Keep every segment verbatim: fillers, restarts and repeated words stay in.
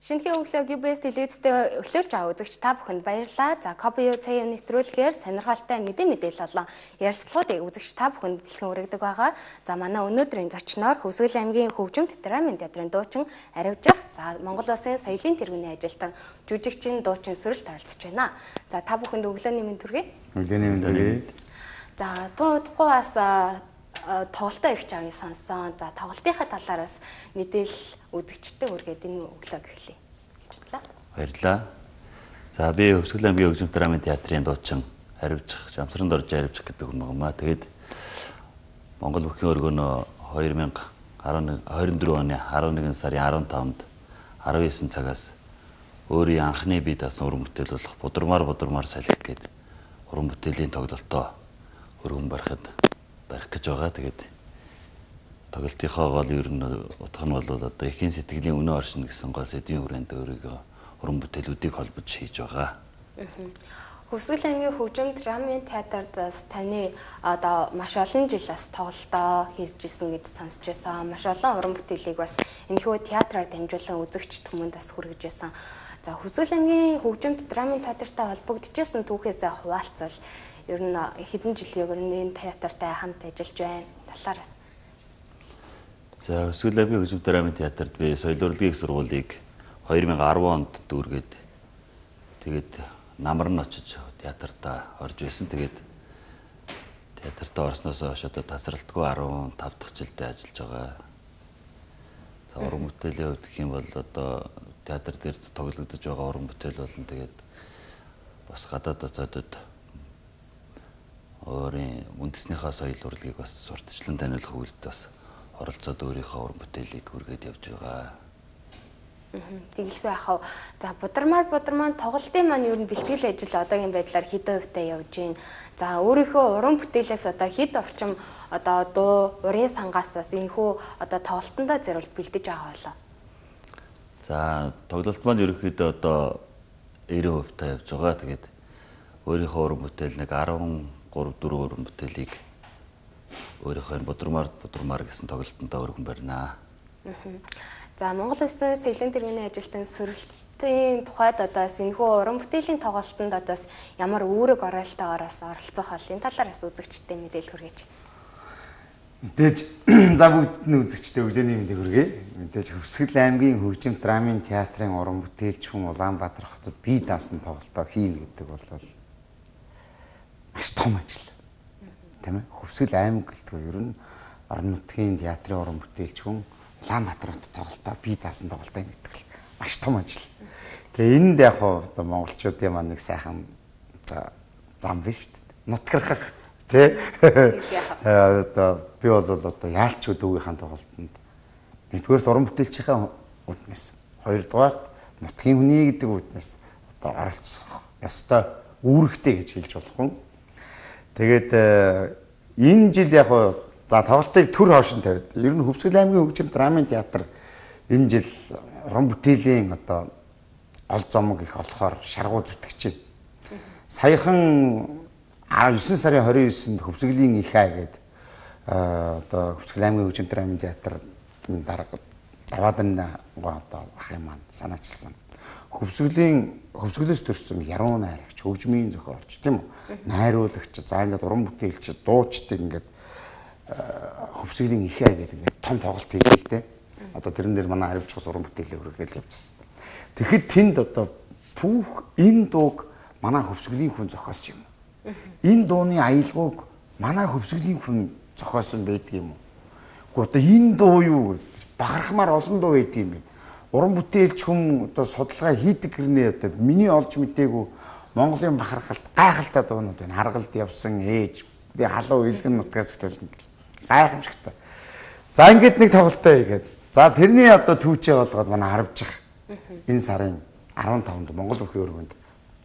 Шинэхэн өглөөг ю би эс телевизтэй өглөөлж байгаа үзэгч та бүхэнд баярлалаа. За Кобио цагийн нэвтрүүлгээр сонирхолтой мэдээ мэдээлэл болон ярилцлагуудыг үзэгч та бүхэнд бэлтгэн өргөдөг байгаа. За манай өнөөдрийн зочноор Хөвсгөл аймгийн хөгжимт драмын театрын дуучин Аривжих, за Монгол Улсын соёлын тэргүүний ажилтан жүжигчин дуучин Сүрэлт оролцож байна. За та бүхэнд өглөөний мэнд хүргэе. Өглөөний мэнд хүргэе. За туудахгүй бас тоглолтоо их чавыг сонсон. За тоглолтынхаа талаараас мэдээлэл үзэгчтэй үргээд энэ өглөөг эхлэе гэж бодлоо. Баярлалаа. За би Хөвсгөл аймгийн хөгжимт драмын театрын дуучин Аривжих, Жамсранд орж Аривжих гэдэг хүн багмаа. Тэгээд Монгол бүхний өргөнөө две тысячи двадцать четыре оны eleven сарын fifteen-нд nineteen цагаас өөрийн анхны бие даасан уран бүтээл болох Будурмаар Будурмаар салхи гэдэг уран бүтээлийн тоглолтоо өргөн барихад барих гэж байгаа. Тэгээд тоглолтынхоо гол ер нь утга нь бол одоо эхийн сэтгэлийн үнэ оршин гэсэн гол сэдвийн хүрээнд өөрийгөө уран бүтээлүүдийг холбож хийж байгаа. Хөвсгөл аймгийн хөгжимт драмын театрт таны одоо маш олон жил бас тоглолтоо хийж исэн гэж сонсч байсан. Маш олон уран бүтээлийг бас энэхүү театраар дамжуулан үзэгч түмэнд бас хүргэж байсан. За Хөвсгөл аймгийн хөгжимт драмын театртай холбогдчихсэн түүхээс хуваалцал ер нь хэдэн жилийн өмнө театртай хамт ажиллаж байна. Талаараас. За Хөвсгөл аймгийн хөгжимт драмын театрт би соёл урлагийн их сургуулийг two thousand ten онд дүүргээд тэгээд намар нь очиж театртаа орж байсан. Тэгээд театртаа орсноос хойш одоо тасралтгүй fifteen дахь жилдээ ажиллаж байгаа. За уран бүтээлийн хувьд гэх юм бол одоо театр дээр тоглогдож байгаа уран бүтээл болон тэгээд бас гадаад дотоодод өөрийн үндэснийхээ соёл урлагийг бас сурталчлан таниулах үйлдэлд бас оролцоод өөрийнхөө уран бүтээлийг хүргээд явж байгаа. Тэгэлгүй яхав. За Будурмаар Будурмаар тоглолтын маань ер нь бэлтгэл ажил одоогийн байдлаар хэдэн хувьтай явж байна. За өөрийнхөө уран бүтээлээс одоо хэд орчим одоо дуу, урын сангаас бас энэхүү одоо тоглолтондоо зориулж бэлдэж байгаа болоо. За тоглолт маань ерөнхийдөө одоо ninety хувьтай явж байгаа. Тэгээд өөрийнхөө уран бүтээл нэг thirteen four уран бүтээлийг өөрийнхөө Будурмаар Будурмаар гэсэн тоглолтондоо өргөн барина. За Монгол Улсын соёлын тэргүүний ажилтан Сүрэлтийн тухайд одоо энэхүү уран бүтээлийн тоглолтонд одоо ямар үүрэг оролтоогоороос оролцох бол энэ талаараас үзэгчтэй мэдээлэл хүргэж. Мэдээж за бүгд нь үзэгчтэй өглөөний мэндийг хүргэе. Мэдээж Хөвсгөл аймгийн хөгжимт драмын театрын уран бүтээлч хүн Улаанбаатар хотод бие даасан тоглолтоо хийнэ гэдэг бол маш том ажил. Тийм ээ. Хөвсгөл аймаг гэлтгүй ер нь орон нутгийн театрын уран бүтээлч хүн Улаанбаатар хотод тоглолтоо бие даасан тоглолтоо гэдэг л маш том ажил. Тэгээ энд яг одоо монголчуудын маань нэг сайхан зам биш шүү дээ. Нутгархах тий. Одоо би бол одоо яалчгүй дүүгийнхэн тоглолтод нэгдүгээрт уран бүтээлчийн үднэс, хоёрдугаарт нутгийн хүний гэдэг үднэс одоо оролцох ёстой үүрэгтэй гэж хэлж болох юм. Тэгээд энэ жил яг за тоглолтыг төр хоошин тавиад ер нь Хөвсгөл аймгийн хөгжимт драмын театр энэ жил уран бүтээлийн одоо ол зомог их олохоор шаргуу зүтгэж байна. Саяхан nine сарын twenty-ninth-нд Хөвсгөлийн их ай гэдэг одоо Хөвсгөл аймгийн хөгжимт драмын театр дарга даваадан одоо ах юм маань санаачилсан. Хөвсгөлийн Хөвсгөлөөс төрсэн яруу найрагч, хөгжмийн зохиолч тийм үү? Найруулагч, за ингээд уран бүтээлч, дуучдыг ингээд Хөвсгөлийн их ай гэдэг ингээд том тоглолт хийлээ л дээ. Одоо тэрэн дээр манай Аривжих уран бүтээлээ өргөөл явуулсан. Тэгэхэд тэнд одоо пүүх энэ дууг манай Хөвсгөлийн хүн зохиосон юм. Энэ дууны аялгауг манай Хөвсгөлийн хүн зохиосон байдаг юм уу? Гэхдээ одоо энэ дуу юу бахархмаар олон дуу байдаг юм. Уран бүтээлч хүн одоо судалгаа хийдэг гэрнээ одоо миний олж мдээгүй Монголын бахархалт гайхалтай дуунууд байна. Харгалд явсан ээж халуун илгэн нутгаас эхлүүлэн гайхамшигтай. За ингээд нэг тоглолтоо хийгээд. За тэрний одоо түүчээ болгоод манай Аривжих энэ сарын fifteen-нд Монгол бүхий өргөнд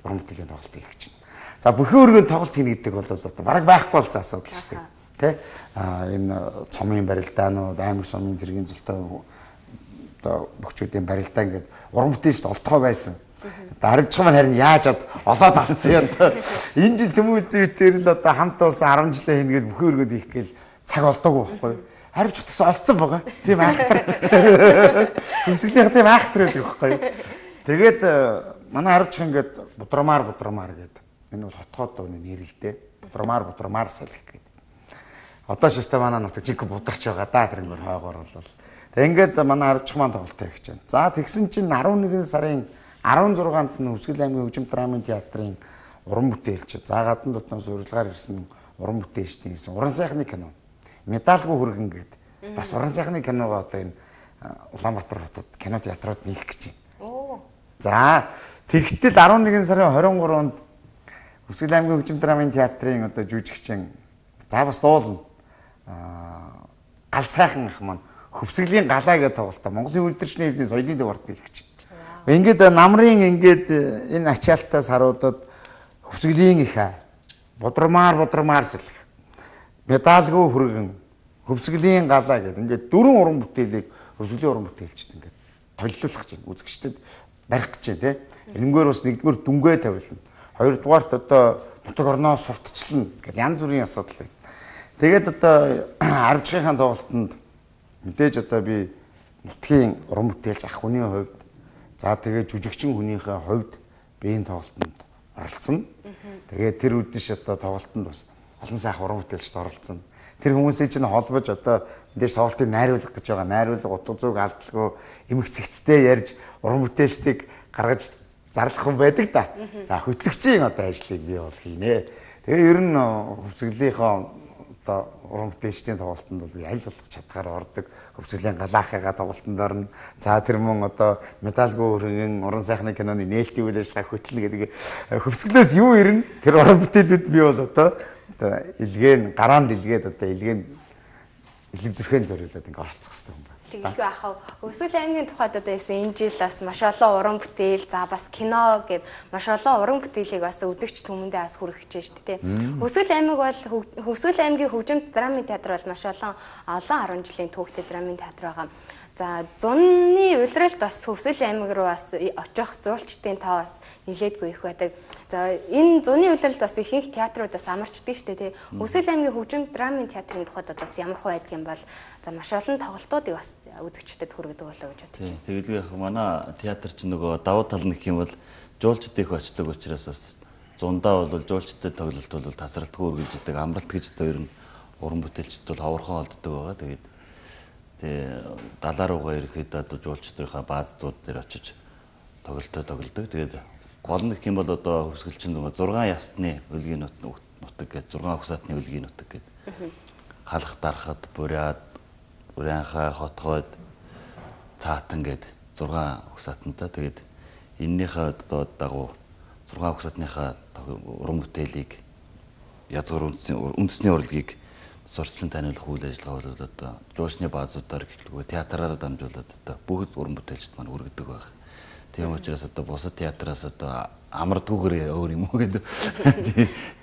уран бүтээлийн тоглолт хийх гэж байна. За бүхий өргөнд тоглолт хийнэ гэдэг бол одоо бараг байхгүй болсон асуудал шүү дээ. Тэ? А энэ цомын барилдаанууд, аймаг сумын зэргийн зөвлөлтөө одоо бөхчүүдийн барилдаа ингээд уран бүтээлчд олдгоо байсан. Аривжих маань харин яаж ад олоод авцсан юм даа. Энэ жил Тэмүүл зүйтээр л одоо хамт улсан ten жилээ хийнгээд бүхий өргөнд хийх гээл цаг олдоогүй байхгүй. Аривжих гэсэн олцсон байгаа. Тийм айхтар. Хөвсгөлийнх тийм айхтар байдаг байхгүй. Тэгээд манай харивчхан ингээд будрамаар будрамаар гэдэг. Энэ бол хотгоод дууны нэр л дээ. Будрамаар будрамаар салхи гэдэг. Одоо ч өстой манай нутаг жиг бударч байгаа да тэрнгээр хойгоор бол. Тэг ингээд манай харивчхан маань тоглолтоо хийж байна. За тэгсэн чинь арван нэгэн сарын арван зургаанд нь Хүсгэл аймгийн хөгжим драмын театрын уран бүтээлч. За гадна дотноос урилгаар ирсэн уран бүтээлчдийн гэсэн уран сайхны кино. Медалгүй хүргэн гэдэг. Бас уран сайхны киногоо одоо энэ Улаанбаатар хотод кино театрууд нээх гэж байна. Оо. За тэгтэл арван нэгэн сарын хорин гурванд Хүсгэл аймгийн хөгжим драмын театрын одоо жүжигчин за бас дуулна. Аа гал сайхан ах маань Хөвсгөлийн галаа гэдэг тоглолтоо Монголын үйлдвэрчний хэвлэлийн соёлын дэв ордны их гэж. Ингээд намрын ингээд энэ ачаалтаас харуудад Хөвсгөлийн их будрамаар будрамаар сэлэх медалгүй хүргэн Хөвсгөлийн галаа гэдэг ингээд дөрвөн уран бүтээлийг Хөвсгөлийн уран бүтээлчд ингээд толилуулах гэж үзэгчдэд барих гэж тий. Энэгээр бас нэгдүгээр дүнгээ тавилна. Хоёрдугаарт одоо нутаг орноос сурталчлана гэдэг янз бүрийн асуудал байна. Тэгээд одоо аривчгийнхаа тоглолтод мэдээж одоо би нутгийн уран бүтээлч ах хүний хувьд за тэгээд жүжигчин хүнийхээ хувьд би энэ тоглолтод оролцсон. Тэгээд тэр үдшиш одоо тоглолтод бас олон сайхан уран бүтээлчд оролцсон. Тэр хүмүүсийн чинь холбож одоо мэдээж тоглолтыг найруулах гэж байгаа. Найруулга утга зүг алдалгүй эмх цэгцтэй ярьж уран бүтээлчдийг гаргаж зарлах хүн байдаг да. За хөтлөгчийн одоо ажлыг би бол хийнэ. Тэгээ ер нь Хөвсгөлийнхөө одоо уран бүтээлчдийн тоглолтод бол би аль болох чадхаар ордог. Хөвсгөлийн галаахыгаа тоглолтод орно. За тэр мөн одоо медалгүй хүргэн уран сайхны киноны нээлтийн үйл ажиллагаа хөтлөнө гэдэг Хөвсгөлөөс юу ирнэ? Тэр уран бүтээлүүд би бол одоо одоо илгээн гараанд илгээд одоо илгээн илэг зүрхэн зориулаад ингээ оролцох хэрэгтэй юм байна. Тэгэлгүй ахав Хүсгэл аймгийн тухайд одоо энэ жил бас маш олон уран бүтээл за бас кино гэд маш олон уран бүтээлийг бас үзэгч түмэндээ бас хүргэж байна шүү дээ. Хүсгэл аймаг бол Хүсгэл аймгийн хөгжим драмын театр бол маш олон олон арван жилийн түүхтэй драмын театр байгаа. За зуны улиралд бас Хүсгэл аймаг руу бас очих зурчдын тоо бас нилээдгүй их байдаг. За энэ зуны улиралд бас ихэнх театрууд бас амарчдаг шүү дээ. Хүсгэл аймгийн хөгжим драмын театрын тухайд бас ямар хөө байдг юм бол за маш олон тоглолтуудыг бас үзэгчдэд хүргэдэг болоо гэж бодож байна. Тэгэлгүй яг манай театр чинь нөгөө давуу тал нь гэх юм бол жуулчд их очдог учраас бас зундаа бол жуулчдад тоглолт бол тасралтгүй үргэлж идэг амралт гэж одоо ер нь уран бүтээлчд бол ховорхон олддог байгаа. Тэгээд тэгээ далаа руугаа ирэхэд одоо жуулчдынхаа бааздууд дээр очиж тоглолтоо тоглодог. Тэгээд гол нь гэх юм бол одоо Хүсгэлчин нөгөө зургаан ясны үлгийн нутаг гэж зургаан ухсаатны үлгийн нутаг гэдэг. Халах дарахад буряад Урянхай хотгойд цаатан гээд зургаан ухсаатантай. Тэгээд эннийхээ одоо дагуу зургаан ухсаатныхаа уран бүтээлийг язгуур үндэсний урлагийг сурчлан таниулах үйл ажиллагаа бол одоо жуучны баазуудаар гэхлгүй театраараа дамжуулаад одоо бүгд уран бүтээлчд маань хүргэдэг байна. Тийм учраас одоо бусад театраас одоо амардгүйгээр өөр юм уу гэдэг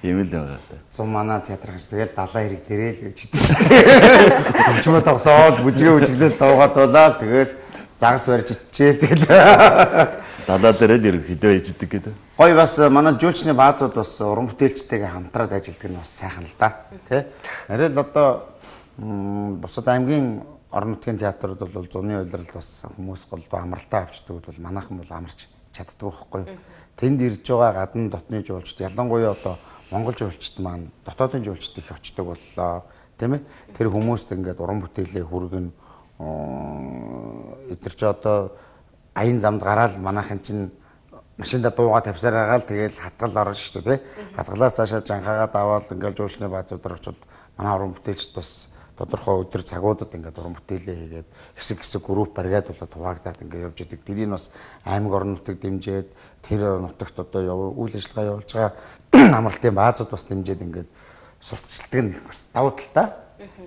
тийм л байгаа. Зам манай театр гэж тэгэл далайн хэрэг дээрээ л гэж хэлсэн. Хөгжмөө тоглоод бүжгээ үжиглэл дуугаад болоод тэгэл загас барьж ичээл тэгэл далаа дээр л хэрэг хөдөө иждэг гэдэг. Гой бас манай жуулчны баазууд бас уран бүтээлчтэйгээ хамтраад ажилладаг нь бас сайхан л да. Тэ? Арай л одоо бусад аймгийн орон нутгийн театрууд бол зуны улирал бас хүмүүс голдоо амралтаа авчдаг бол манайхан бол амарч чаддаг байхгүй. Тэнд ирж байгаа гадны дотны жуулчд ялангуяа одоо монгол жуулчд маань дотоодын жуулчд их очдог боллоо. Тийм ээ? Тэр хүмүүст ингээд уран бүтээлээ хүргэн эдгээр ч одоо аян замд гараад манайхан чинь машинда дуугаа тавьсаар агаал тэгэл хатгал орно шүү дээ. Хатгалаас цаашаа жанхаагаад аваад ингээд жуулчны баазуудаар очиод манай уран бүтээлчд бас тодорхой өдөр цагуудад ингээд уран бүтээлээ хийгээд хэсэг хэсэг групп бариад болоод хуваагдаад ингээд явж идэг. Тэрийг бас аймаг орон нутаг дэмжиж тэр нутагт одоо үйл ажиллагаа явуулж байгаа амралтын баазууд бас дэмжиж ингээд сурталчилдаг нь бас давуу талтай.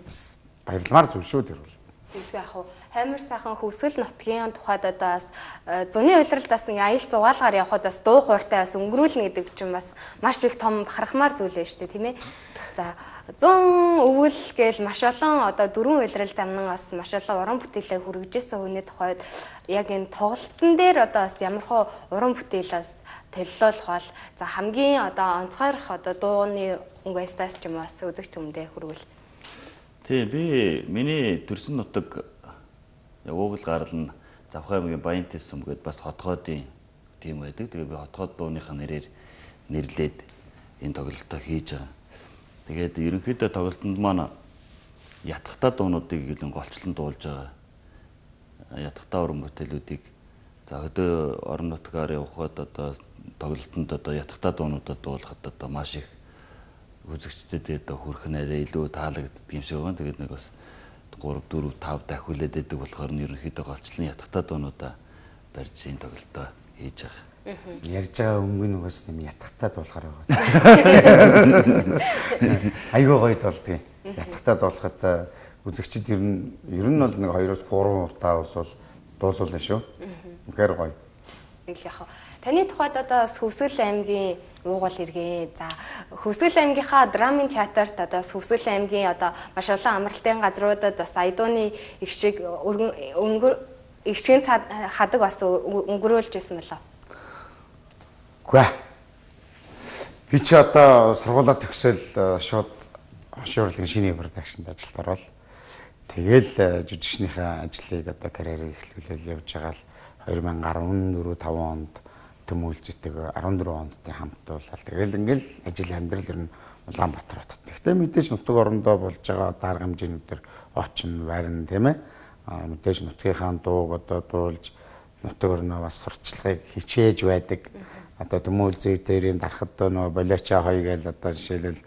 Бас баярламар зүйл шүү тэр бол. Тэгвэл яг хуу Хамир сайхан Хүсгэл нутгийн тухайд одоо бас зуны улиралд бас ингээ аял зугаалгаар явхад бас дуу хууртай бас өнгөрүүлнэ гэдэг чинь бас маш их том бахархмаар зүйл байна шүү дээ тийм ээ. За зун өвөл гээл маш олон одоо дөрвөн улиралд амнан бас маш олон уран бүтээлээ хүргэжсэн хүний тухайд яг энэ тоглолтын дээр одоо бас ямархуу уран бүтээлээс төлөлөх бол за хамгийн одоо онцгойрох одоо дууны өнгөстас ч юм уу бас үзэгч хүмүүдээ хүргэл. Тий би миний төрсөн нутаг уугал гарал нь Завхай аймгийн Баян Тэс сүм гээд бас хотгоодын тийм байдаг. Тэгээ би хотгоод дууныхаа нэрээр нэрлээд энэ тоглолтоо хийж байгаа. Тэгээд ерөнхийдөө тоглолтод маань ятгахтай дуунуудыг гэлэн голчлон дуулж байгаа. Ятгахтай уран бүтээлүүдийг за хөдөө орон нутгаар явхад одоо тоглолтод одоо ятгахтай дуунуудад дуулахад одоо маш их үзэгчдэд одоо хүрэх нь арай илүү таалагддаг юм шиг байна. Тэгээд нэг бас три четыре five дахиулээд байдаг болохоор нь ерөнхийдөө голчлон ятгахтай дуунуудаа барьж энэ тоглолтоо хийж байгаа. Ярьж байгаа өнгө нь угаас нэм ятгахтай дуулахаар байгаа. Айгуу гоё дуулдаг. Ятгахтай дуулахад үзэгчид ер нь ер нь бол нэг two-оос three удаа бол дуулуулна шүү. Үнэхээр гоё. Нэг л яхаа. Таны тухайд одоо Хөвсгөл аймгийн уугуул иргээ. За Хөвсгөл аймгийнхаа драмын театрт одоо Хөвсгөл аймгийн одоо маш олон амралтын газруудад бас Айдууны их шиг өнгөр их шиг хадаг бас өнгөрүүлж байсан мөлөө. Үгүй. Би ч одоо сургуулаа төгсөөл шууд хошуурлын шинэ продакшнд ажилд ороод тэгэл жүжигчнийхээ ажлыг одоо карьерийг эхлүүлэл явж байгаа л two thousand four five онд төмөлзөйтэйг fourteen онд хамтуулаад тэгэл ингээл ажил амьдрал ер нь Улаанбаатар хотод. Гэхдээ мэдээж нутаг орондоо болж байгаа дарга хэмжээнүүдээр очин барин тийм ээ. А мэдээж нутгийнхаа дууг одоо дуулж нутаг орноо бас сурчлагыг хичээж байдаг. Одоо төмөлзөй дээрийн дарахад нөө болиоча хоёр гээл одоо жишээлбэл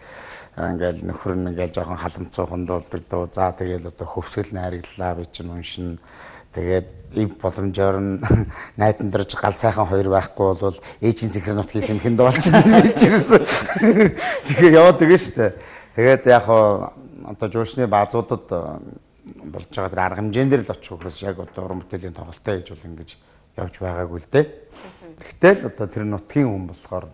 ингээл нөхөр нь ингээл жоохон халамцуухан дуулдаг дуу. За тэгэл одоо Хөвсгөл найраглалаа би чинь уншин. Тэгээд ив боломжоор нь найдан дөрж гал сайхан хоёр байхгүй бол ээжийн зэхэр нутгийг сэмхэн дуулчихна гэж ирсэн. Тэгээ яваад байгаа шүү дээ. Тэгээд яг одоо жуушны баазуудад болж байгаа тэр арга хэмжээнд дэр л очих учраас яг одоо уран бүтээлийн тоглолтоо хийж бол ингэж явж байгаагүй л дээ. Тэгтэл одоо тэр нутгийн хүн болохоор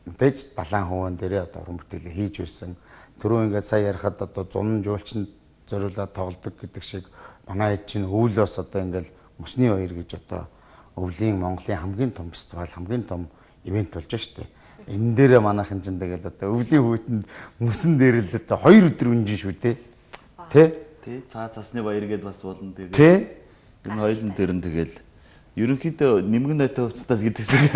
мэдээж далайн хөвөн дээрээ одоо уран бүтээлээ хийж байсан. Түрүү ингээд сая ярихад одоо зун жуулчнд зориулаад тоглодог гэдэг шиг манай хэд чинь өвлөөс одоо ингээл Мөсний хоёр гэж одоо өвлийн Монголын хамгийн том фестивал хамгийн том ивент болж штэ. Энэ дээрээ манайхан чинь тэгэл одоо өвлийн хүүтэнд мөсөн дээр л одоо хоёр өдөр үнжин шүү дээ. Тэ? Тэ цаа цасны баяр гэдээ бас болно тэгээд. Тэ? Энэ хоёулын дээр нь тэгэл ерөнхийдөө нэмгэн нойтой хувцастал гэдэг шиг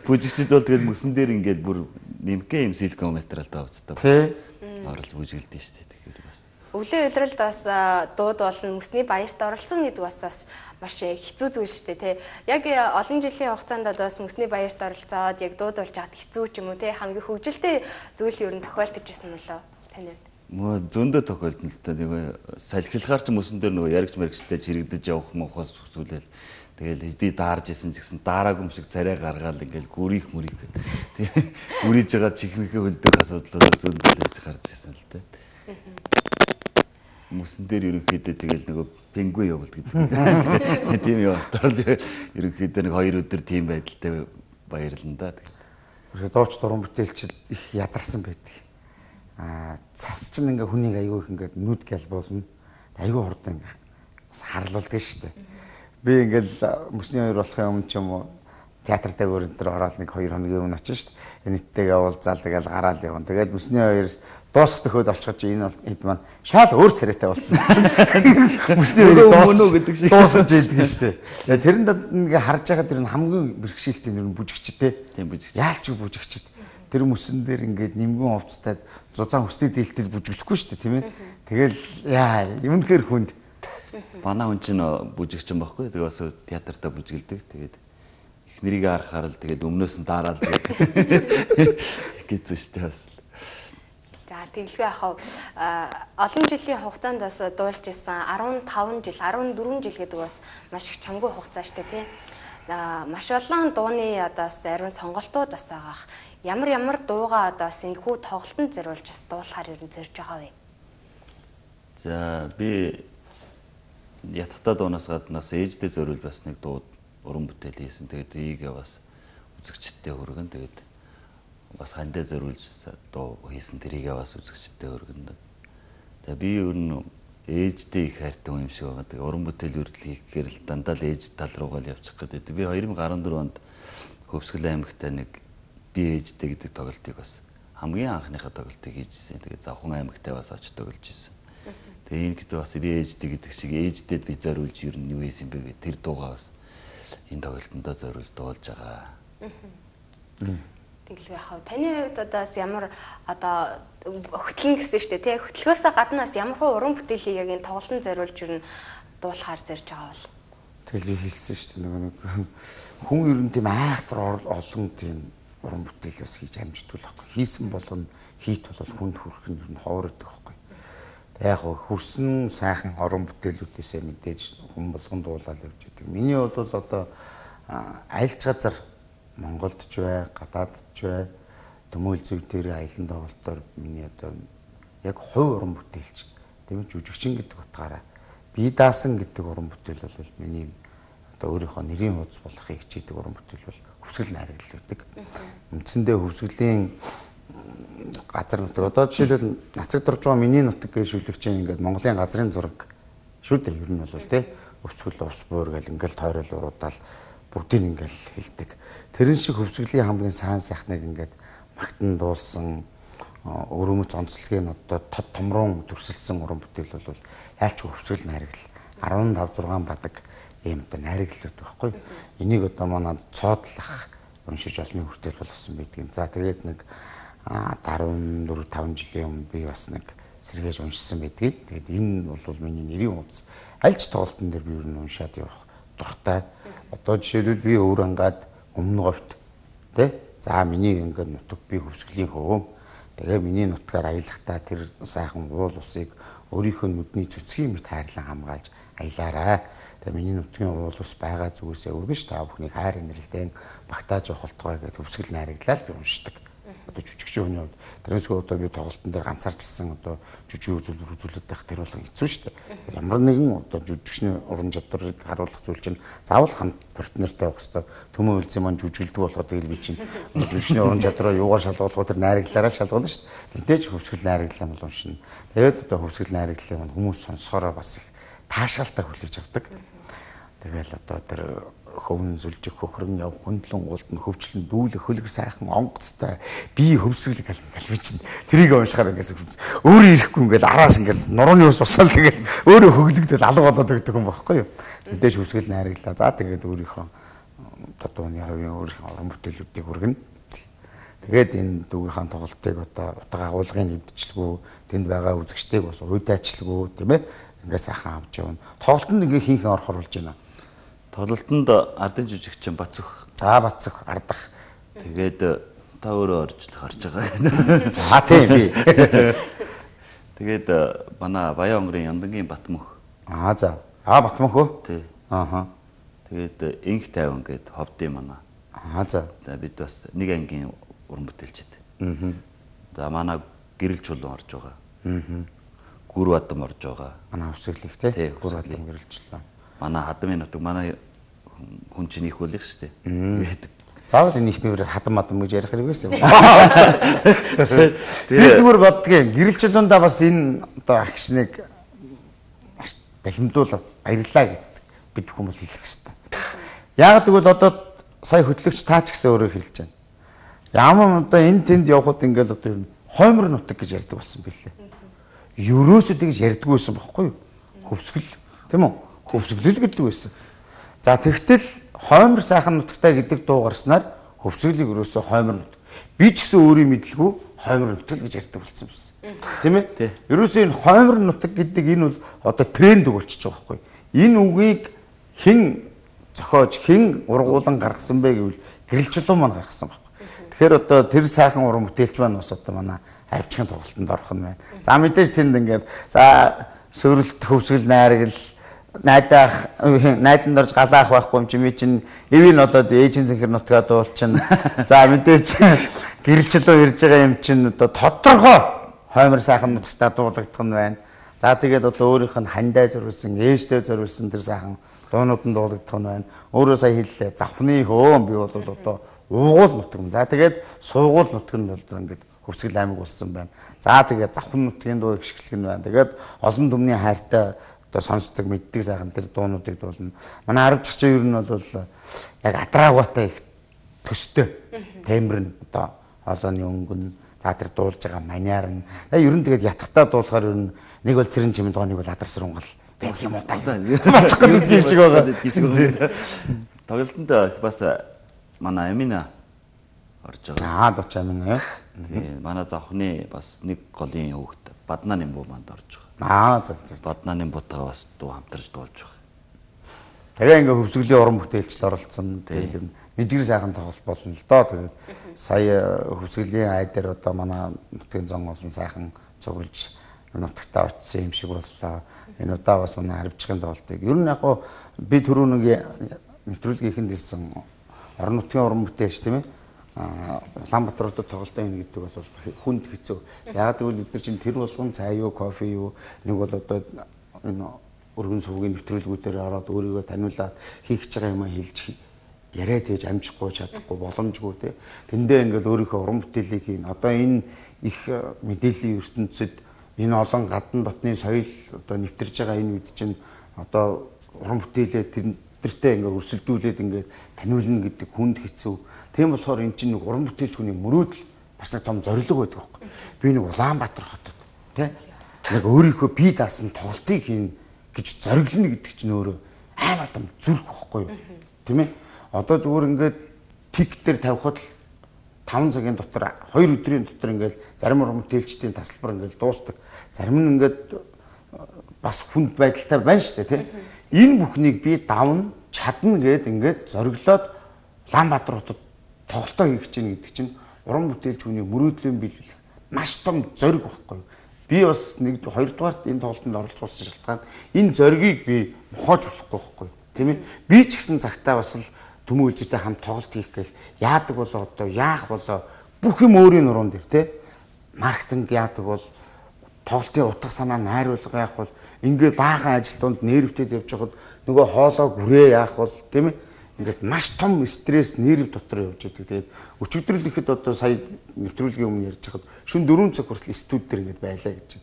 бүжигчд бол тэгэл мөсөн дээр ингээд бүр нэмгэн юм силикон материалтай хувцастал. Тэ? Оролцож бүжиглдэж штэ тэгэхээр бас. Өвлийн уйлралд бас дууд болон мөсний баярт оролцсон гэдэг бас бас маш хэцүү зүйл шүү дээ тий. Яг олон жилийн хугацаанд бас мөсний баярт оролцоод яг дууд болж хаад хэцүү ч юм уу тий хамгийн хөвгөлтэй зүйл ер нь тохиолдож байсан мөлөө таны хувьд. Мөө зөндөө тохиолдсон л та нэг салхилахаар ч мөсөн дээр нөгөө яригч мэрэгчтэй чирэгдэж явах мохоос хүсүүлэл тэгэл хэдий даарж исэн ч гэсэн daarаагүй юм шиг царай гаргаал ингээл гүрийх мөрийг тий гүрийж байгаа чихмэхээ хөлдөг асуудлууд зөндөө л гарч ирсэн л тий. Мөсөн дээр ерөнхийдөө тэгэл нөгөө пингвин явуулт гэдэг. Тийм явалтаар л ерөнхийдөө нэг хоёр өдөр тийм байдалтай баярлана да. Тэгэхээр дооч дуран бүтээлчд их ядарсан байдаг. Аа цас чинь ингээ хүнийг аягүй их ингээ нүд гэлбуулна. Аягүй хурдан ингээ харлуулдаг шүү дээ. Би ингээл мөсний хоёр болохын өмнө ч юм уу театр дээр энэ төр ороод нэг хоёр хоногийн өмнө очив шүү дээ. Нийттэйгээ уулзаал тэгэл гараал явна. Тэгэл мөсний хоёр дуусах төхөөд очиход энэ хэд маань шал өөр царайтай болсон. Мөсний хоёр дуусах гэдэг шиг дуусгаж ийлдэг шүү дээ. Тэрэнд ингээ харж байгаа тэр нь хамгийн бэрхшээлтэй нэр нь бүжигчтэй. Тийм бүжигч. Яалч бүжигчд. Тэр мөсөн дээр ингээд нимгэн овцтайд зузаан хүстэй дийлтэл бүжиглэхгүй шүү дээ тийм ээ. Тэгэл яа юмнхээр хүнд. Манай хүн чинь бүжигч юм баггүй. Тэгээ бас театртаа бүжиглдэг. Тэгээд их нэрийг харахаар л тэгэл өмнөөс нь дараал тэгэл гэсэн шүү дээ бас. За тэглгүй яхав олон жилийн хугацаанд бас дуулж исэн fifteen жил fourteen жил гэдэг бас маш их чамгүй хугацаа шүү дээ тий. Маш олон дууны одоос ариун сонголтууд бас байгаах. Ямар ямар дуугаа одоос энэ хүү тоглолтод зориулж бас дуулахаар ер нь зорж байгаа вэ? За би ятгахтай дуунаас гадна бас ээждээ зориул бас нэг дуу уран бүтээл хийсэн. Тэгээд ийгээ бас үзэгчдтэй хүргэн тэгээд бас хандаа зориулж дуу хийсэн тэрийгээ бас үзэгчдтэй хүргэн. Тэгээ би ер нь ээждээ их хайртай юм шиг байгаа. Тэгээ уран бүтээл үрдэл хийх гэхээр л дандаа л ээж тал руугаа л явчих гэдэг. Би two thousand fourteen онд Хөвсгөл аймагтай нэг би ээждээ гэдэг тоглолтыг бас хамгийн анхныхаа тоглолтыг хийжсэн. Тэгээ Завхан аймагтай бас очиж тоглож ирсэн. Тэгээ энэ гэдэг бас би ээждээ гэдэг шиг ээждээд би зориулж ер нь юу хийсэн бэ гэх тэр дуугаа бас энэ тоглолтондоо зориулж дуулж байгаа. Тэглээ хав. Таны хувьд одоо ямар одоо хөтлөн гэсэн шүү дээ тий. Хөтлөхөөсөө гаднаас ямар хуу уран бүтээлийг яг энэ тоглолтод зориулж ирнэ дуулахаар зэрж байгаа бол. Тэгэл би хэлсэн шүү дээ нөгөө нэг хүн ер нь тийм айхтар олон тийм уран бүтээл бас хийж амждаг байхгүй. Хийсэн болгоно хийт бол хүнд хүрэх нь ер нь хоорогддог байхгүй. Тэг яг хөрсөн сайхан уран бүтээлүүдээсээ мэдээж хүн болгонд дуулаад явж байдаг. Миний бол одоо айлч газар Монголд ч бай, гадаадд ч бай, төмөөл зүг дээр аялан тоглолтоор миний одоо яг хувь уран бүтээлч тийм жүжигчин гэдэг утгаараа бие даасан гэдэг уран бүтээл бол миний одоо өөрийнхөө нэрийн хуудас болохыг хичээдэг уран бүтээл бол хөвсгөл найрагл байдаг. Үндсэндээ хөвсгөлийн газар нутаг одоо жишээлбэл нацаг дурж байгаа миний нутаг гэж шүлэгч ингээд Монголын газрын зураг шүү дээ ер нь бол тий өвсгөл ус буур гэл ингээд тойрол уруудаал бүгдийг ингээд хэлдэг. Тэрэн шиг хөвсгөлийн хамгийн сайн сайхныг ингээд магтан дуулсан өрөөмөц онцлогийг одоо тод томрон төрсөлсөн уран бүтээл бол яалч хөвсгөл найрагл арван тав зургаан бадаг ийм одоо найраглууд байхгүй. Энийг одоо манай цоодлох уншиж олны хүртэл болсон байдгийг. За тэгээд нэг дөрвөн дөрвөн таван жилийн өмнө би бас нэг сэргээж уншсан байдгийг. Тэгээд энэ бол миний нэрийн хуудас. Альч тоглолтын дээр би юу н уншаад явах дуртай. Одоо жишээлбэл би өөр ангаад өмнө говьт тий. За миний ингээд нутаг би хөвсгөлийн хөө. Тэгээ миний нутгаар аялахдаа тэр сайхан уул усыг өөрийнхөө нүдний цэцгийн мэт хайрлан хамгаалж аялаарай. Тэгээ миний нутгийн уул ус байгаа зүгээсээ өргөж та бүхний хайр инрэлтэн багтааж явах болтугай гэдэг хөвсгөл найраглал би уншдаг. Одоо жүжигчийн хүний хувьд тэрнээсээ одоо би тоглолтын дээр ганцаарчилсан одоо жүжиг үзүүлбэр үзүүлээд байх тэр бол хэцүү шүү дээ. Ямар нэгэн одоо жүжигчний уран чадварыг харуулах зүйл чинь заавал хамт партнертай байх хэрэгтэй. Төмөө үлзий маань жүжиглдэг болохоо тэгэл би чинь жүжигчний уран чадвараа юугаар шалгуулах тэр найраглалаараа шалгуулна шүү дээ. Тэнтэй ч хөвсгөл найраглал юм уншина. Тэгээд одоо хөвсгөл найраглалыг маань хүмүүс сонсохороо бас их таашаалтай хүлээж авдаг. Тэгэл одоо тэр хөвн зүлжих хөхрөн яв хөндлөн уултан хөвчлэн дүүлэх хөлөг сайхан онгоцтой би хөвсгөл галбий чинь тэрийг уншихаар ингээд өөрөө ирэхгүй ингээд араас ингээд нурууны ус босоод тэгэл өөрөө хөглөгдөл алга болоод өгдөг юм байхгүй юу. Мэдээж хөвсгөл найраглаа. За тэгээд өөрийнхөө тодооны хувийн өөрийнхөө уран бүтээлүүдийг хүргэнэ. Тэгээд энэ дүүгийнхаа тоглолтыг одоо утга агуулгын нэвдчлэгөө тэнд байгаа үзэгчдийг бас уйдаачлэгөө тийм ээ ингээд сайхан авч явна. Тоглолтод ингээд хинхэн орохор болж байна. Тоглолтонд ардын жүжигчин Бацөх. За Бацөх ардах. Тэгээд та өөрөө орж харж байгаа. За тийм би. Тэгээд манай Баян онгорын Яндангийн Батмөх. Аа за. Аа Батмөх үү? Тий. Ааха. Тэгээд Инх тайван гээд ховдын манай. Аа за. За бид бас нэг ангийн уран бүтээлчд. Аа. За манай гэрэл чулуун орж байгаа. Аа. Гүр бадам орж байгаа. Манай өсөглөх тий. Гүр бадам гэрэлчтэй. Манай хадмын нутаг манай хүн чинь их үлэх шүү дээ. Заавал энэ их бивэр хадам мадам гэж ярих хэрэгээс юм. Би зүгээр боддгийн гэрэлчлүүндээ бас энэ одоо агшныг бэлэмдүүлээд баярлаа гэдэг бид хүмүүс хэлэх хэрэгтэй. Яг тэгвэл одоо сая хөтлөгч таач гэсэн өөрөө хэлж байна. Ямар одоо энэ тэнд явхад ингээл одоо юм хоймор нутаг гэж ярьдаг болсон билээ. Ерөөсөө тэгж ярьдаг байсан байхгүй юу? Хөвсгөл тийм үү? Хөвсгөлөл гэдэг байсан. За тэгтэл хоймор сайхан нутагтай гэдэг дуу гарснаар хөвсгөлийг өрөөсөө хоймор нутаг. Би ч гэсэн өөрийн мэдлгүй хоймор нутаг гэж ярьдаг болсон байсан. Тийм ээ? Ерөөсөө энэ хоймор нутаг гэдэг энэ бол одоо тренд болчихж байгаа байхгүй. Энэ үгийг хэн зохиож, хэн ургуулan гаргасан бэ гэвэл гэрэлчлүүн маань гаргасан байхгүй. Тэгэхээр одоо тэр сайхан уран бүтээлч маань бас одоо манай авчгийн тоглолтод орох нь байна. За мэдээж тэнд ингээд за сөрөлт хөвсгөл найрагл найдаах найдан дорж галаах байхгүй юм чи ми чин эвийн болоод ээжийн зэнхэр нутгаа дуулчин. За мэдээж гэрэлчлөө ирж байгаа юм чин одоо тодорхой хоймор сайхан нутагтаа дуулагдах нь байна. За тэгээд одоо өөрийнх нь хандаа зориулсан, ээжтэй зориулсан тэр сайхан дуунууд нь дуулагдах нь байна. Өөрөө сая хэллээ завхны хөө би бол одоо уугуул нутаг. За тэгээд суугуул нутаг нь бол ингээд хөвсгөл аймаг болсон байна. За тэгээд завхан нутгийн дуу ихшгэлэг нь байна. Тэгээд олон түмний хайртай одоо сонсдог мэддэг сайхан тэр дуунуудыг дуулна. Манай арвчч ер нь бол яг адраагуутай их төстэй. Тембэр нь одоо хоолойны өнгөн за тэр дуулж байгаа маняар нь. Ер нь тэгээд ятгахтаа дуулахаар ер нь нэг бол цэрэн чимэд гоо нэг бол адар сурунгал байдаг юм уу та. Мацх гэдэг юм шиг байгаа. тоглолтод бас манай Амина орж байгаа. Аа дууч Амина. Тэгээ манай завхны бас нэг голын хүүхэд Баднааны буу манд орж байгаа. Аа зөв зөв. Баднааны буутаа бас дуу хамтарч дуулж байгаа. Тэгээ ингээ хөвсгөлийн уран бүтээлчд оролцсон. Тэгээд нэгжгэр сайхан тоглолт болно л доо. Тэгээд сая хөвсгөлийн ай дээр одоо манай нутгийн зон олон сайхан цуглаж нутагтаа очсон юм шиг боллоо. Энэ удаа бас манай харивчгийн тоглолтыг. Ер нь яг гоо би түрүү нэг нэвтрүүлгийнхэнд хэлсэн орон нутгийн уран бүтээлч тийм ээ. Улаанбаатар хотод тоглолтоо ийн гэдэг бол хүнд хэцүү. Яг гэвэл бид нар чинь тэр болгон цай юу, кофе юу, нэг бол одоо энэ өргөн сувгийн нэвтрүүлгүүдээр ороод өөрийгөө таниулаад хийх гэж байгаа юм а хэлж яриад ээж амжихгүй чадахгүй боломжгүй те. Тэндээ ингээл өөрийнхөө уран бүтээлийг хийн. Одоо энэ их мэдээллийн ертөнцид энэ олон гадна дотны соёл одоо нэвтэрж байгаа энэ үед чинь одоо уран бүтээлээ тэрнэртэй ингээ өрсөлдүүлээд ингээ таниулна гэдэг хүнд хэцүү. Тийм болохоор эн чинь нэг уран бүтээлч хүний мөрөөдөл бас нэг том зорилго байдаг байхгүй. Би нэг Улаанбаатар хотод тий нэг өөрийнхөө бие даасан тоглолтыг хийн гэж зориглоно гэдэг чинь өөрөө амар том зүрх байхгүй юу. Тийм ээ. Одоо зүгээр ингээд тик дээр тавихад л таван цагийн дотор хоёр өдрийн дотор ингээд зарим уран бүтээлчдийн тасалбар ингээд дуустдаг. Зарим нь ингээд бас хүнд байдалтай байна шүү дээ тий. Энэ бүхнийг би давна чадна гэд ингээд зориглоод Улаанбаатар хотод тоглолтоо хийх гэж гэдэг чинь уран бүтээлч хүний мөрөөдлийн биелүүлэх маш том зориг байхгүй юу. Би бас нэг хоёрдугаарт энэ тоглолтод оролцуулсан шалтгаан энэ зоригийг би мохоож болохгүй байхгүй юу. Тийм ээ. Би ч гэсэн цагтаа бас л төмөн үзүүтэй хамт тоглолт хийх гээл яадаг болоо одоо яах болоо бүх юм өөрийн нуруунд дэр тий. Маркетинг яадаг бол тоглолтын утга санаа найруулга яах бол ингээ баахан ажилтнууд нервтэд явж байхад нөгөө хоолоо гүрээ яах бол тийм ээ. Ингээд маш том стресс нерв дотор явж байдаг. Тэгээд өчигдрөл ихэд одоо сая нэвтрүүлгийн өмнө ярьж хахад шөнө дөрвөн цаг хүртэл студ дээр ингээд байлаа гэж.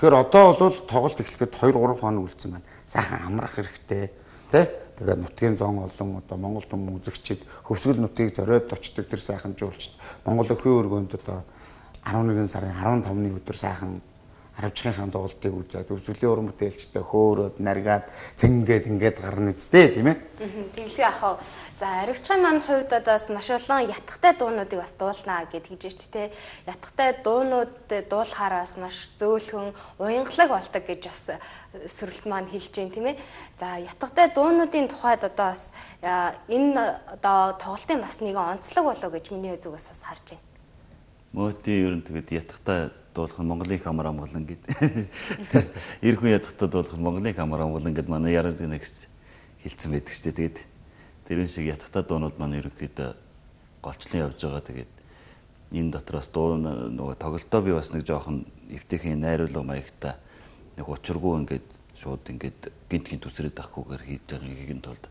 Тэгэхээр одоо бол тоглолт эхлэхэд хоёр гурван хоног үлдсэн байна. Сайхан амрах хэрэгтэй тий. Тэгээд нутгийн зон олон одоо Монгол түмэн үзэгчид хөвсгөл нутгийг зориод очдог тэр сайхан жуулчд Монгол өхөө өргөнд одоо арван нэгэн сарын арван тавны өдөр сайхан харивчгийн тоглолтыг үзээд өвсгөлийн уран бүтээлчтэй хөөрөөд наргаад цэнгээд ингээд гарна үстэй тийм ээ. Тэглээ ах. За харивчгийн маань хувьд одоос маш олон ятгатай дуунуудыг бас дуулнаа гэд хийж штэ. Ятгатай дуунууд дуулахаар бас маш зөөлхөн уянгалаг болдог гэж бас сөрөлт маань хэлж байна тийм ээ. За ятгатай дуунуудын тухайд одоо бас энэ одоо тоглолтын бас нэгэн онцлог болоо гэж миний зүгээс бас харж байна. Мөти ер нь тэгээд ятгатай дуулах нь Монголын камер амгалан гэд. Эр хүн ядахтаа дуулах нь Монголын камер амгалан гэд манай яраад нэгс хэлсэн байдаг ч тэгээд тэрэн шиг ядахтаа дуунууд маань ерөнхийдөө голчлон явж байгаа. Тэгээд энэ дотроос дуу нөгөө тоглолтоо би бас нэг жоохон эвтэйхэн найруулга маягтай нэг учиргүй ингээд шууд ингээд гинт гинт үсрээд авахгүйгээр хийж байгаа нэгэн тулд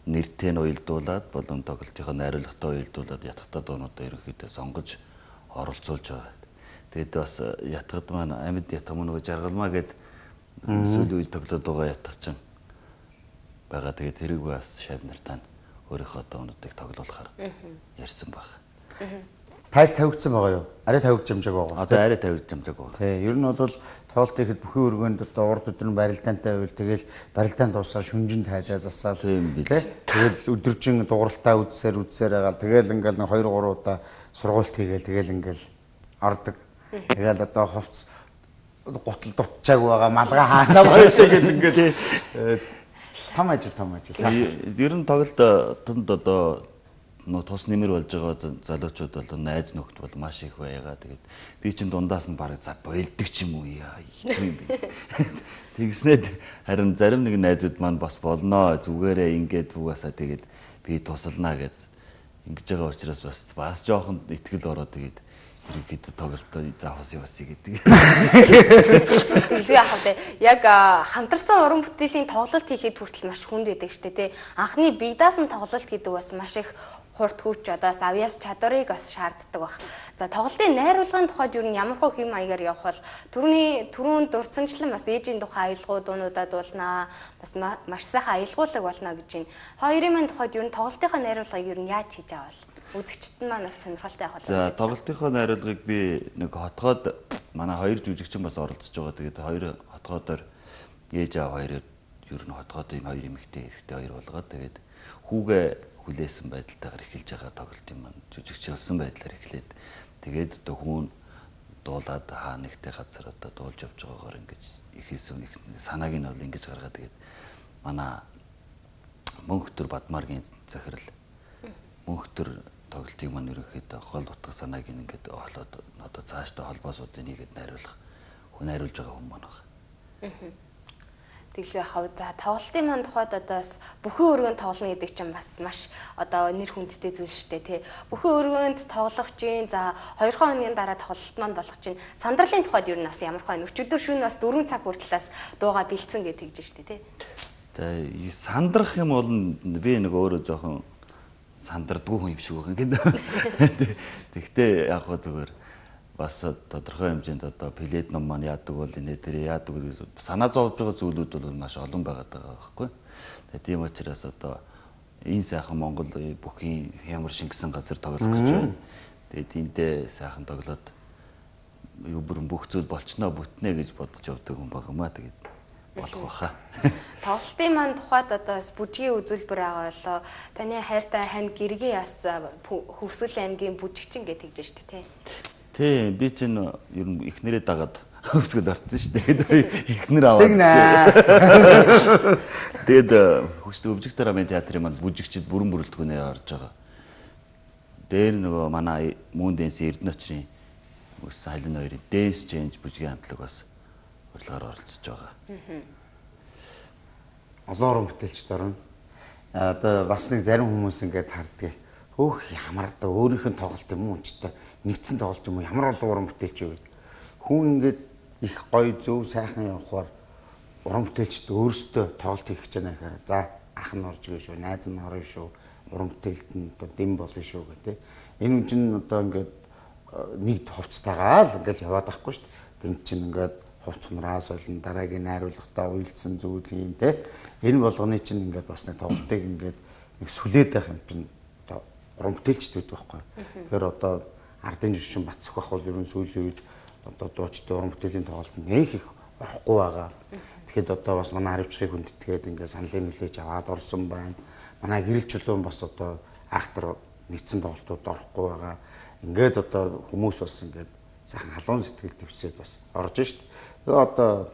нэртэй нь уялдуулаад болон тоглолтынхоо найруулгатай уялдуулаад ядахтаа дуунуудаа ерөнхийдөө сонгож оролцуулж байгаа. Тэгээд бас ятгад маань амьд ятг мөн нөгөө жаргалмаа гэд сүүлийн үед тоглоод байгаа ятг чинь байгаа. Тэгээд тэрийг бас шав нартаа өөрийнхөө доонуудыг тоглоулахаар ярьсан баг. Тайс тавигдсан байгаа юу? Арай тавигдж амжааг байгаа. Одоо арай тавигдж амжааг байгаа. Тий, ер нь бол тоглолт ихэд бүхэн өргөнд одоо урд өдөр нь барилдаантай байвал тэгэл барилдаанд дуусаа шүнжин тайлаа засаад тийм бил. Тэгэл өдөржин дууралтаа үдсээр үдсээр байгаа. Тэгэл ингээл нэг хоёр гурван удаа сургуульт хийгээл тэгэл ингээл ордог. Тэгэл одоо хувц гутал дутчааг байгаа малгай хаана байлаа гэдэг ингээд том ажил том ажил. Ер нь тоглолтод одоо нөө тус нэмэр болж байгаа залуучууд бол найз нөхд бол маш их байгаа. Тэгээд би чинь дундаас нь бараг за бойлдог ч юм уу яа юм бэ. Тэгснээд харин зарим нэг найзууд маань бас болноо зүгээрээ ингээд угаасаа тэгээд би тусалнаа гэд ингэж байгаа учраас бас бас жоохон итгэл ороод тэгээд ихэд тоглолтоо заахс яваас гэдэг. Тэглээ яах вэ? Яг хамтарсан уран бүтээлийн тоглолт хийхэд хүртэл маш хүнд байдаг штэ тий. Анхны бие даасан тоглолт гэдэг бас маш их хурд хүч одоос авьяас чадварыг бас шаарддаг баг. За тоглолтын найруулгын тухайд юу н ямар хөө хэм маягаар явах бол түрүүний түрүүн дурдсанчлан бас ээжийн тухай аялгуу дуунуудад дуулнаа. Бас маш сайхан аялгуулаг болно гэж байна. Хоёрын маань тухайд юу н тоглолтынхаа найруулгыг юу н яаж хийж авал? Үзэгчд маань бас сонирхолтой явах болно. За тоглолтынхоо найруулгыг би нэг хотгоод манай хоёр жүжигчин бас оролцож байгаа. Тэгээд хоёр хотгоодоор ээж аа хоёр ер нь хотгоод ийм хоёр эмэгтэй хэрэгтэй хоёр болгоод тэгээд хүүгээ хүлээсэн байдалтайгаар эхэлж байгаа тоглолт юм маань жүжигчилсэн байдлаар эхлээд тэгээд одоо хүн дуулаад хаа нэгтэй газар одоо дуулж явж байгаагаар ингэж ихээсэн их санааг нь бол ингэж гаргаад тэгээд манай Мөнхтөр Бадмаргийн захирал Мөнхтөр тоглолтыг маань ерөнхийдөө гол утга санааг ингээд олоод одоо цаашдаа холбоосуудыг нэгэд найруулах хүн найруулж байгаа хүн маань байна. Тэглээ хав за тоглолтын маань тухайд одоо бас бүхэн өргөнд тоглоно гэдэг чинь бас маш одоо нэр хүндтэй зүйл шүү дээ тий. Бүхэн өргөнд тоглох чинь за хоёр хоногийн дараа тоглолт маань болох чинь сандарлын тухайд юу нас ямар хаа өчигдөр шөнө бас дөрвөн цаг хүртэлээс дууга бэлдсэн гэж тэгж шүү дээ тий. За сандрах юм бол би нэг өөрөө жоохон сандардгүй хүн юм шиг байгаа гэдэг. Тэгтээ яг гоо зүгээр бас тодорхой хэмжээнд одоо плед ном маань яадаг бол энэ тэр яадаг гэж санаа зовж байгаа зүйлүүд бол маш олон байгаад байгаа байхгүй. Тэгээ тийм учраас одоо энэ сайхан Монгол бүхий ямар шингэсэн газар тоглох гэж байна. Тэгээ тиймдээ сайхан тоглоод юу бүрэн бүх зүйл болчноо бүтнэ гэж бодож явдаг хүн байгаамаа тэгээд болох баха. Тоглолтын маань тухайд одоо бүжгийн үзүүлбэр байгаа болоо таны хайртай хань гэргийн яс Хөвсгөл аймгийн бүжигчин гэж тэгж штэ тий. Тий би чинь ер нь эхнэрээ дагаад Хөвсгөл орсон шүү дээ. Эхнэр аваад. Тэгээд Хөвсгөл өвжиг драмын театрын маань бүжигчд бүрэн бүрэлдэхүүнээр орж байгаа. Дээр нөгөө манай Мөн дэнс Эрдэнэ очрын Сайлын хоёрын Dance Change бүжгийн хамтлаг бас урилгаар оролцож байгаа. Олон уран бүтээлчд орно. Одоо бас нэг зарим хүмүүс ингээд харддаг. Хөөх ямар одоо өөрийнх нь тоглолт юм уу ч та нэгдсэн тоглолт юм уу ямар олон уран бүтээлч юу гэдэг. Хүн ингээд их гоё зөв сайхан явахаар уран бүтээлчд өөрсдөө тоглолт хийх гэж байна гэхээр за ах нь орж ирэх шүү, найз нь орно шүү, уран бүтээлд нь одоо дэм болно шүү гэдэг. Энэ үн чинь одоо ингээд нэг хувцастайгаа л ингээд яваад байхгүй шүү дээ. Тэнт чинь ингээд хувц хунараас болон дараагийн найруулгатаа уйлдсан зүйл юм те. Энэ болгоны чинь ингээд бас нэг тоглолтыг ингээд нэг сүлээд байх юм чинь одоо уран бүтээлчд байдаг байхгүй. Тэгэхээр одоо ардын жүжигчин Бацсөх бол ерөн сүүлийн үед одоо дуучдын уран бүтээлийн тоглолтод нэх их орохгүй байгаа. Тэгэхэд одоо бас манай харивчрыг хүндэтгээд ингээд саналын хүлээж аваад орсон байна. Манай гэрэл чулуун бас одоо актер нэгдсэн тоглолтууд орохгүй байгаа. Ингээд одоо хүмүүс бас ингээд сайхан халуун сэтгэл төвсөд бас орж шít. Тэгээ одоо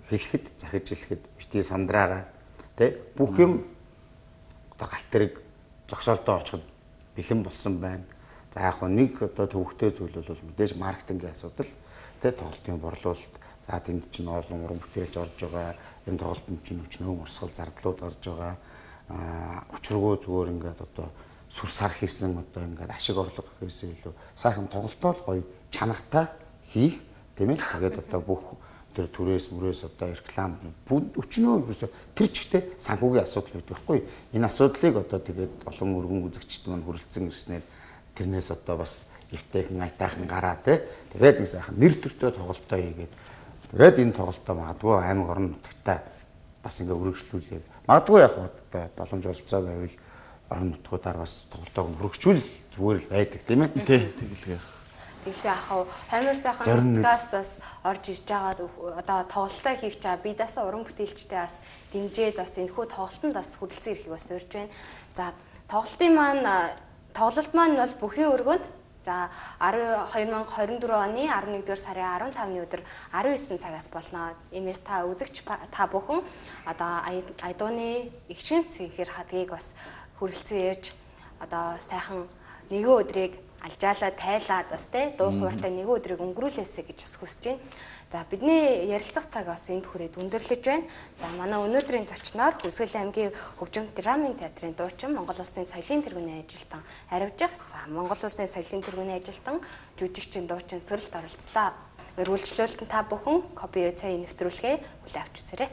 хэлэхэд захиж хэлэхэд бити сандраараа тий бүх юм одоо галт тэрэг зогсоолтоо очиход бэлэн болсон байна. За яг нэг одоо төвөгтэй зүйл бол мэдээж маркетингийн асуудал тий тоглолтын борлуулалт. За тэнд чинь олон уран бүтээлч орж байгаа. Энэ тоглолтод чинь өчнөө урсгал зардлууд орж байгаа. Аа учиргүй зүгээр ингээд одоо сүр сар хийсэн одоо ингээд ашиг орлого хийсэн илүү сайхан тоглолтоо гоё чанартай хийх тийм ээ. Тэгээд одоо бүх тэр түрээс мөрөөс одоо реклам өчнөө ерөөсө тэр чигтээ санхүүгийн асуудал байдаг байхгүй. Энэ асуудлыг одоо тэгээд олон өргөн үзэгчд маань хүрэлцэн ирснээр тэрнээс одоо бас эвтэйхэн айтаахан гараа тий. Тэгээд нэг сайхан нэр төртөө тоглолтоо хийгээд тэгээд энэ тоглолтоо магадгүй аймаг орон нутагтаа бас ингээ өргөжлүүлээд магадгүй яг одоо боломж олцоо байвал орон нутгуудаар бас тоглолтоо өргөжүүл зүгээр л байдаг тийм ээ. Тий тэгэлгээ. Тэгшээ ахав хамир сайхан подкастаас орж ирж байгаа одоо тоглолтоо хийх чаа би дасаа уран бүтээлчтэй бас дэмжээд бас энэхүү тоглолтод бас хүрэлцэн ирэхийг бас урьж байна. За тоглолтын маань тоглолт маань бол бүхэн өргөнд за две тысячи двадцать четыре оны eleven-р сарын арван тавны өдөр nineteen цагаас болно. Иймээс та үзэгч та бүхэн одоо Айдууны игшин цэнхэр хадгийг бас хүрэлцэн ирж одоо сайхан нэгэн өдрийг алжаалаа тайлаад бас те дуу хууртай нэгэн өдрийг өнгөрүүлээсэй гэж бас хүсэж байна. За бидний ярилцах цаг бас энд хүрээд өндөрлөж байна. За манай өнөөдрийн зочноор Хөвсгөл аймгийн Хөгжим драмын театрын дуучин Монгол Улсын соёлын тэргүүний ажилтан Харивжих. За Монгол Улсын соёлын тэргүүний ажилтан жүжигчин дуучин Сөрөлт оролцлоо. Өргөлжлөлтөнд та бүхэн копи цай нэвтрүүлгээ хүлээн авч үзээрэй.